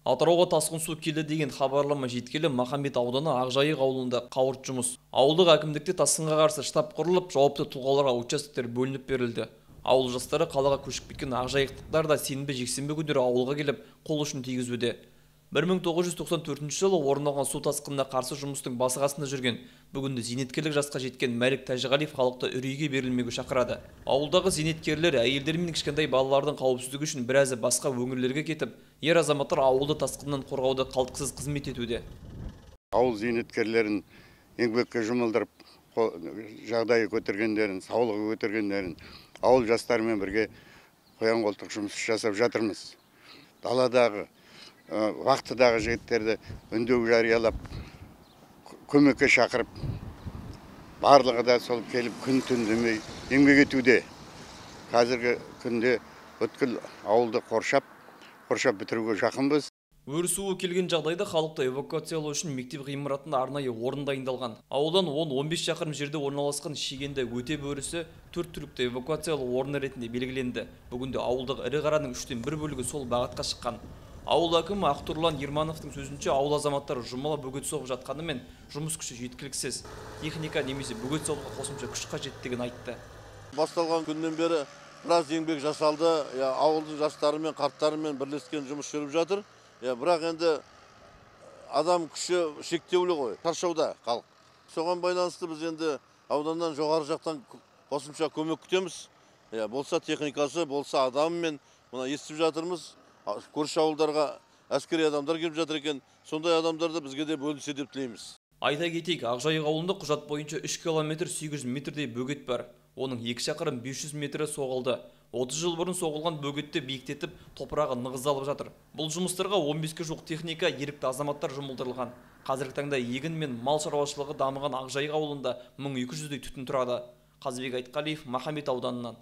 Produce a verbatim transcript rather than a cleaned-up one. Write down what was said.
Атырауға тасқын су келді деген хабарлама жеткелі Махамбет ауданы Ақжайық ауылында қауырт жұмыс. Ауылдық әкімдікте тасқынға қарсы штаб құрылып, жауапты тұлғаларға участоктер бөлініп берілді. Ауыл жастары қалаға көшіп кеткен ақжайықтықтар да сенбі жексенбі күндері ауылға келіп қол ұшын тигізуде. бір мың тоғыз жүз тоқсан төртінші жылы орын алған су тасқынына қарсы жұмыстың басы қасында жүрген, бүгінде зейнеткерлік жасқа жеткен Мәлік Тәжіғалиев халықты үрейге берілмеуге шақырады. Ауылдағы зейнеткерлер әйелдер мен кішкентай балалардың қауіпсіздігі үшін біразы басқа өңірлерге кетіп, ер азаматтар ауылды тасқыннан қорғауда қалтқысыз қызмет етуде. Ауыл зейнеткерлерін еңбекке жұмылдырып, жағдайы көтергендерін, саулығы көтергендерін ауыл жастарымен бірге қоян қолтық жұмыс жасап жатырмыз. Даладағы вақтыдағы жігіттерді үндеу жариялап, көмекке шақырып, барлығы да сол келіп күн түн демей еңбек етуде. Қазіргі күнде бүткіл ауылды қоршап, қоршап бітіруге жақынбыз. Өрсуі келген жағдайда халықты эвакуациялау үшін мектеп ғимаратында арнайы орын дайындалған. Ауылдан он он бес шақырым жерде орналасқан Шегенді өте бөрісі төрт түлікті эвакуациялау орны ретінде белгіленді. Бүгінде ауылдағы ірі қараның үштен бір бөлігі сол бағытқа шыққан. Ауыл әкімі Ақтұрлан Ермановтың сөзінше ауыл азаматтары жұмыла бөгет соғып жатқанымен жұмыс күші жеткіліксіз. Техника немесе бөгет соғуға қосымша күш қажеттігін айтты. Басталған күннен бері біраз еңбек жасалды. Ауылдың жастарымен, қарттарымен бірлескен жұмыс жүріп жатыр. Бірақ енді адам күші шектеулі ғой, таршауда халық. Соған байланысты біз енді ауданнан жоғары жақтан қосымша көмек күтеміз. Болса техникасы, болса адамымен мына естіп жатырмыз. Көрші ауылдарға әскери адамдар келіп жатыр екен. Сондай адамдарды бізге де бөлінсе деп тілейміз. Айта кетейік, Ақжайық ауылында құжат бойынша үш километр сегіз жүз метрдей бөгет бар. Оның екі шақырым бес жүз метрі соғылды. отыз жыл бұрын соғылған бөгетті биіктетіп, топырағы нығыздалып жатыр. Бұл жұмыстарға он беске жуық техника, ерікті азаматтар жұмылдырылған. Қазіргі таңда егін мен мал шаруашылығы дамыған Ақжайық ауылында мың екі жүздей түтін тұрады. Қазбек Айтқалиев, Махамбет ауданынан.